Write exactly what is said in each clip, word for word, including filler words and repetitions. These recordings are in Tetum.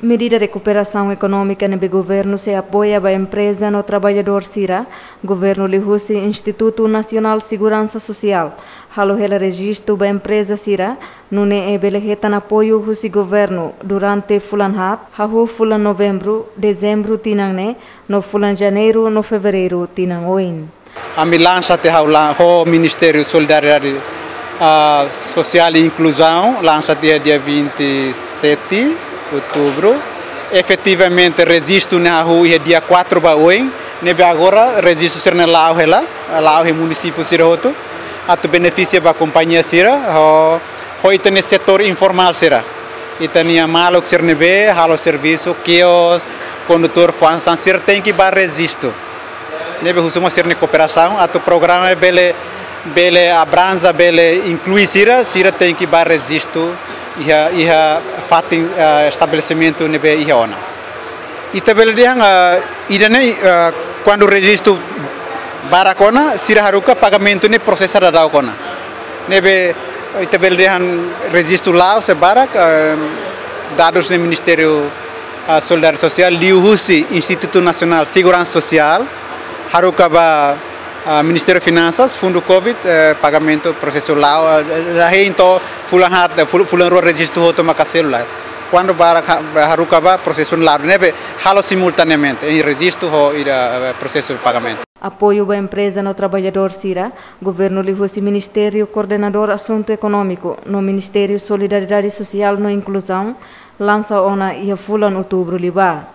Medida rekuperasaun ekonómika ne'ebé governu sei apoia ba empreza no traballadór sira, governu liuhusi Institutu Nasionál Seguransa Sosiál halo hela rejistu ba empreza sira, nune'e bele hetan apoiu husi governu durante fulan haat, hahú fulan Novembru, Dezembru tinan ne'e, no fulan Janeiru no Fevereiru tinan oin. Ami lansa tiha ha'u la-, ho Ministériu Solidariedade, ah, Sosiál e Inkluzaun, lansa tiha dia vinte e sete Outubru. Efetivamente, rejistu ne'e hahú iha dia quatro ba oin, ne'ebé agora rejistu sira-ne'e la'o hela, la'o iha munisípiu sira hotu, atu benefisia ba kompañia sira, ho, ho ita-nia setór informál sira. Ita-nia maluk sira ne'ebé halo servisu, kios, kondutór, fa'an sira tenke bá rejistu. Ne'ebé husu mai sira-nia kooperasaun, atu programa bele, bele abranja, bele inklui sira, sira tenke bá rejistu iha, iha fatin, eh, estabelesimentu ne'ebé iha ona. Ita bele dehan, eh, ida-ne'e, eh, kuandu rejistu barak ona, sira haruka pagamentu ne'e prosesa daudaun ona. Ne'ebé ita bele dehan rejistu la'o se barak, eh, dadus ne'e Ministériu, ah, Solidariedade Sosiál, liuhusi Institutu Nasionál Seguransa Sosiál, haruka ba, ah, Ministériu Finansas, fundu covid, eh, pagamentu prosesu la'o, eh, eh, hein to'o fulan haat, eh, ful-, fulan rua rejistu hotu maka selu lai. Kuandu barak ha-, haruka ba prosesu la'o, ne'ebé halo simultaneamente, hein rejistu ho ida, eh, prosesu pagamentu. Apoiu ba empreza no traballadór sira, governu liuhusi Ministériu Koordenadór Asuntu Ekonómiku no Ministériu Solidariedade Sosiál no Inkluzaun, lansa ona iha fulan Outubru liubá.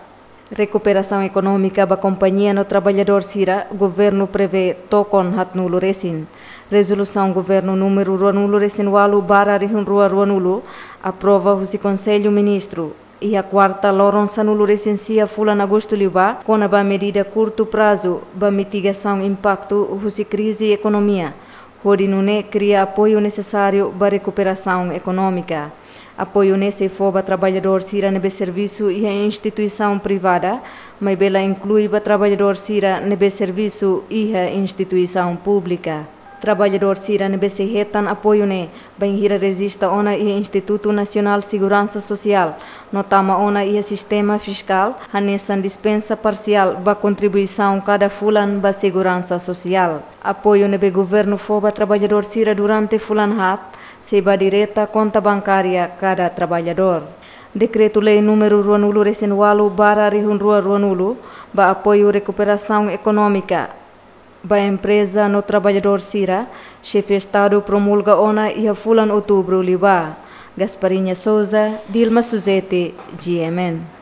Rekuperasaun ekonómika ba kompañia no traballadór sira, governu prevee tokon haatnulu resin. Rezolusaun governu númeru ruanulu resin ualu barra rihun rua ruanulu, aprova husi Konsellu Ministru iha kuarta loron sanulu resin sia fulan Agostu liubá, kona-ba medida kurtu prazu ba mitigasaun impaktu husi krize ekonomia, hodi nune'e kria apoiu nesesáriu ba rekuperasaun ekonómika. Apoiu ne'e sei fó ba traballadór sira ne'ebé servisu iha instituisaun privada, maibé la inklui ba traballadór sira ne'ebé servisu iha instituisaun públika. Traballadór sira ne'ebé sei hetan apoiu ne'e, bainhira rejista ona iha Institutu Nasionál Seguransa Sosiál, no tama ona iha sistema fiskál, hanesan dispensa parsiál ba kontribuisaun kada fulan ba seguransa sosiál. Apoiu ne'ebé governu fó ba traballadór sira durante fulan haat, sei ba direta konta bankária kada traballadór. Dekretu-Lei númeru ruanulu resin ualu barra rihun rua ruanulu, ba apoiu rekuperasaun ekonómika ba empreza no traballadór sira, Xefe Estadu promulga ona iha fulan Outubru liubá. Gasparinha Souza, Dilma Suzete, G M N.